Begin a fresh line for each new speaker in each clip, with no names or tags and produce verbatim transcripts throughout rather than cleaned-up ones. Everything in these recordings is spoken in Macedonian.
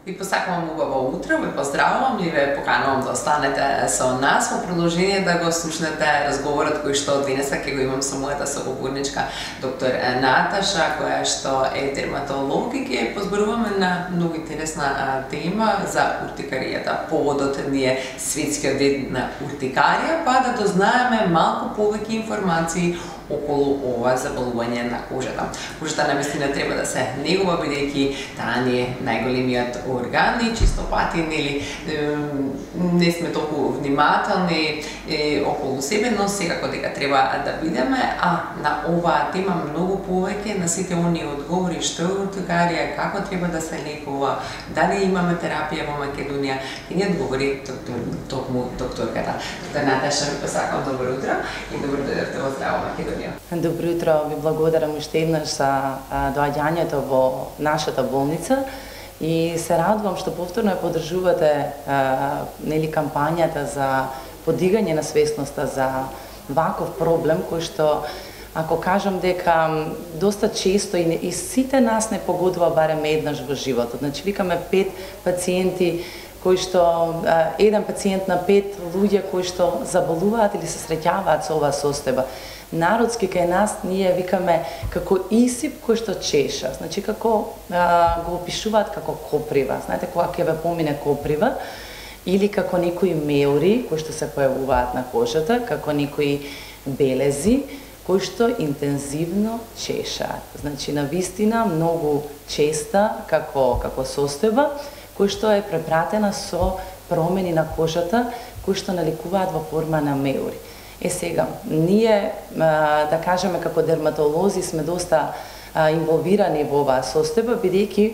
Ви посакувам убаво утро, ве поздравувам и ве поканувам да останете со нас во продолжение да го слушнете разговорот кој што денеска ќе го имам со мојата соговорничка доктор Наташа, која што е дерматолог и ќе позборуваме на многу интересна а, тема за уртикаријата. Поводот ни е светскиот ден на уртикарија, па да дознаеме малку повеќе информации околу ова заболување на кожата. Кожата навистина треба да се негува, бидејќи таа не е најголемиот орган и чисто пати нели не сме толку внимателни е, околу себе, но секако дека треба да бидеме, а на оваа тема многу повеќе на сите оние одговори што е уртикарија, како треба да се лекува, дали имаме терапија во Македонија, ќе ни одговори доктор, токму докторката. Доктор Наташа, ви посакам добро утро и добро дојдовте во Здраво Македонија.
Добро утро, ви благодарам уште еднаш за доаѓањето во нашата болница и се радувам што повторно ја поддржувате нели кампањата за подигање на свесноста за ваков проблем кој што, ако кажам дека доста често и, и сите нас не погодува барем еднаш во животот. Значи викаме пет пациенти кои што еден пациент на пет луѓе кои што заболуваат или се среќаваат со оваа состојба. Народски кај нас ние викаме како исип кој што чеша. Значи како а, го опишуваат како коприва. Знаете кога ќе ве помине коприва или како некои меури кои што се појавуваат на кожата, како некои белези кои што интензивно чешаат. Значи навистина многу честа како како состојба кој што е препратена со промени на кожата кои што наликуваат во форма на меури. Е сега, ние, да кажеме како дерматолози, сме доста инволвирани во оваа состојба, бидејќи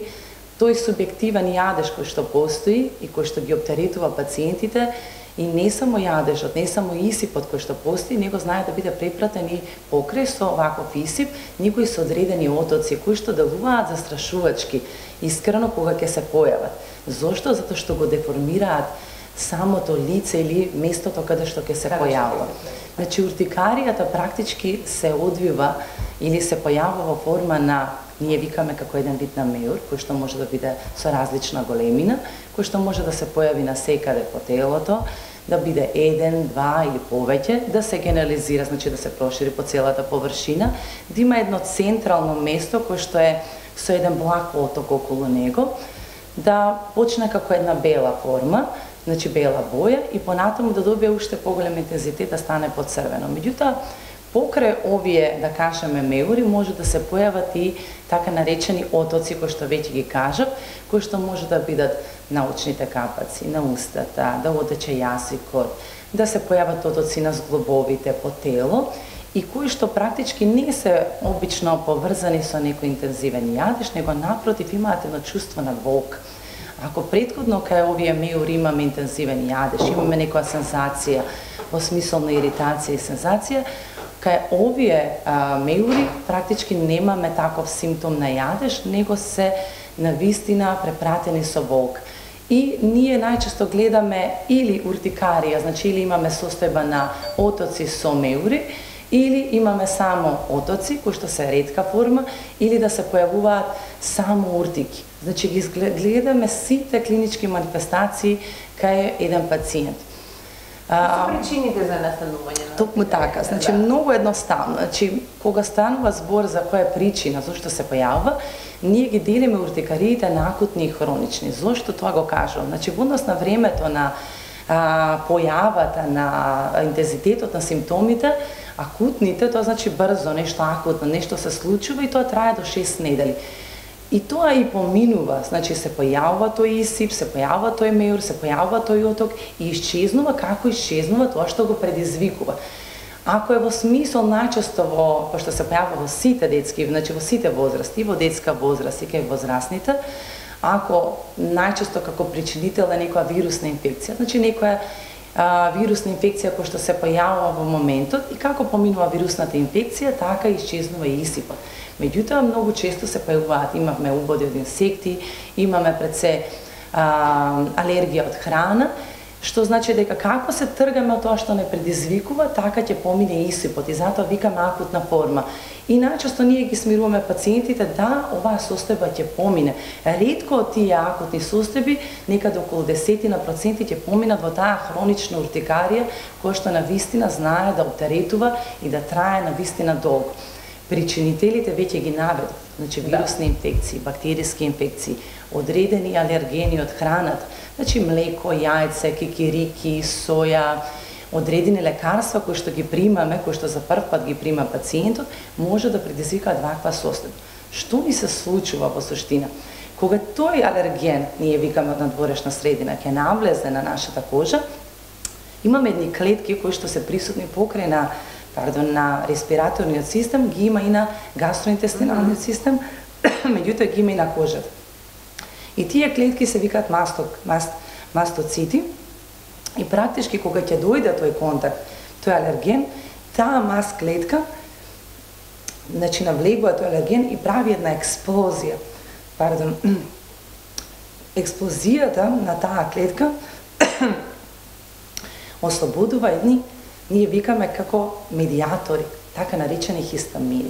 тој субјективен јадеж кој што постои и кој што ги оптеретува пациентите, и не само јадежот, не само исипот кој што постои, него знае да биде препратен и покрај со ваков исип, некои со одредени отоци кои што делуваат застрашувачки, искрено кога ќе се појават. Зошто? Затоа што го деформираат самото лице или местото каде што ќе се појавува. Значи уртикаријата практички се одвива или се појавува во форма на, ние викаме како еден вид на меур, кој што може да биде со различна големина, кој што може да се појави на секаде по телото, да биде еден, два или повеќе, да се генерализира, значи да се прошири по целата површина, да има едно централно место кој што е со еден благ оток околу него, да почне како една бела форма, значи бела боја и понатаму да добие уште поголем интензитет, да стане поцрвено. Меѓутоа, покрај овие, да кажеме, меури, може да се појават и така наречени отоци, кои што веќе ги кажав, кои што може да бидат на очните капаци, на устата, да одече јасикот, да се појават отоци на зглобовите по тело и кои што практички не се обично поврзани со некој интензивен јадеж, него напротив имаат едно чувство на болка. Ако претходно кај овие меури имаме интензивен јадеж, имаме некоја сензација во смисол на иритација и сензација, кај овие а, меури практички немаме таков симптом на јадеж, него се навистина препратени со болка. И ние најчесто гледаме или уртикарија, значи или имаме состојба на отоци со меури, или имаме само отоци, кои што се ретка форма, или да се појавуваат само уртики. Значи ги гледаме сите клинички манифестации кај еден пациент.
Што се причините за настанување на
токму така, значи да. Многу едноставно. Значи кога станува збор за која причина зошто се појавува, ние ги делиме уртикариите на акутни и хронични. Зошто тоа го кажувам? Значи во однос на времето на а, појавата на интензитетот на симптомите, акутните, тоа значи брзо, нешто акутно, нешто се случува и тоа трае до шест недели. И тоа и поминува, значи се појавува тој исип, се појавува тој меур, се појавува тој оток и исчезнува како исчезнува тоа што го предизвикува. Ако е во смисол најчесто во, пошто се појавува во сите детски, значи во сите возрасти, и во детска возраст и кај возрастните, ако најчесто како причинител е некоја вирусна инфекција, значи некоја а, вирусна инфекција која што се појавува во моментот и како поминува вирусната инфекција, така исчезнува и исипот. Меѓутоа, многу често се појавуваат, имавме убоди од инсекти, имаме пред се а, алергија од храна, Што значи дека како се тргаме од тоа што не предизвикува, така ќе помине исипот и затоа викаме акутна форма. И најчесто ние ги смируваме пациентите да оваа состојба ќе помине. Ретко од тие акутни состојби, некаде околу десет проценти ќе поминат во таа хронична уртикарија која што навистина знае да оптеретува и да трае навистина долго. Причинителите веќе ги наведов, значи вирусни инфекции, бактериски инфекции, одредени алергени од храната, значи млеко, јајце, кикирики, соја, одредени лекарства кои што ги примаме, кои што за прв пат ги прима пациентот, може да предизвикаат ваква состојба. Што ни се случува во суштина? Кога тој алерген, ние викаме од надворешна средина, ќе навлезе на нашата кожа, имаме едни клетки кои што се присутни покрај на пардон, на респираторниот систем, ги има и на гастроинтестиналниот систем, меѓутоа ги има и на кожата. И тие клетки се викаат масток, маст, мастоцити, и практички кога ќе дојде тој контакт, тој алерген, таа маст клетка, значи навлегува тој алерген и прави една експлозија. Пардон, експлозијата на таа клетка ослободува едни, ние викаме како медиатори, така наречени хистамини.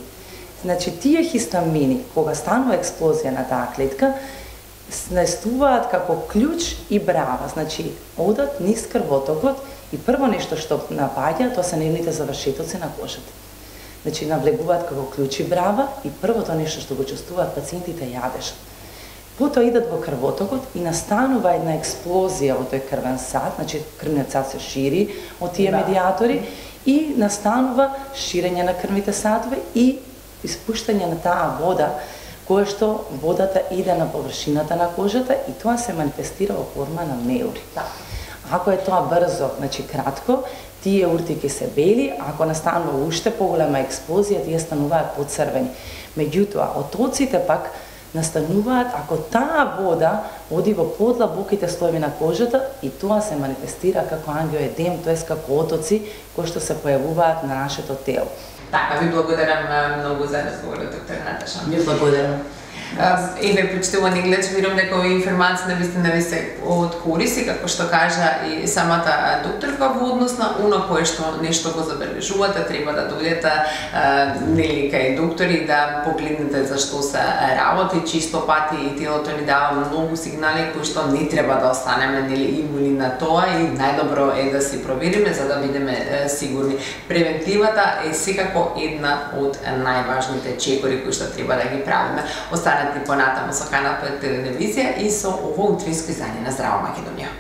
Значи, тие хистамини, кога станува експлозија на таа клетка, наестуваат како клjuč и брава, значи одат низ крвотокот и прво нешто што напаѓа, тоа се нивните завршетоци на кожата. Значи навлегуваат како клjuč и брава и првото нешто што го чувствуваат пациентите јадешат. Потоа идат во крвотокот и настанува една експлозија во тој крвен сад, значи крвниот сад се шири од тие медиатори и настанува ширење на крвните садови и испуштање на таа вода, кое што водата иде на површината на кожата и тоа се манифестира во форма на меури. Ако е тоа брзо, значи кратко, тие уртики се бели, ако настанува уште поголема експлозија, тие стануваат поцрвени. Меѓутоа, отоците пак настануваат ако таа вода оди во подлабоките слоеви на кожата и тоа се манифестира како ангиоедем, тоест како отоци кои што се појавуваат на нашето тело.
Така, ви благодарам многу за разговорот, доктор Наташа.
Ви благодарам.
Еве, почитувани гледачи, верувам дека овие информации навистина ви се од корист и како што кажа и самата докторка во однос на оно кое што нешто го забележувате, треба да дојдете нели кај доктори да погледнете за што се работи, чисто пати и телото ни дава многу сигнали кои што не треба да останеме нели имуни на тоа и најдобро е да си провериме за да бидеме сигурни. Превентивата е секако една од најважните чекори кои што треба да ги правиме. Останете понатаму со Канал пет телевизија и со ово утринско издание на Здраво Македонија.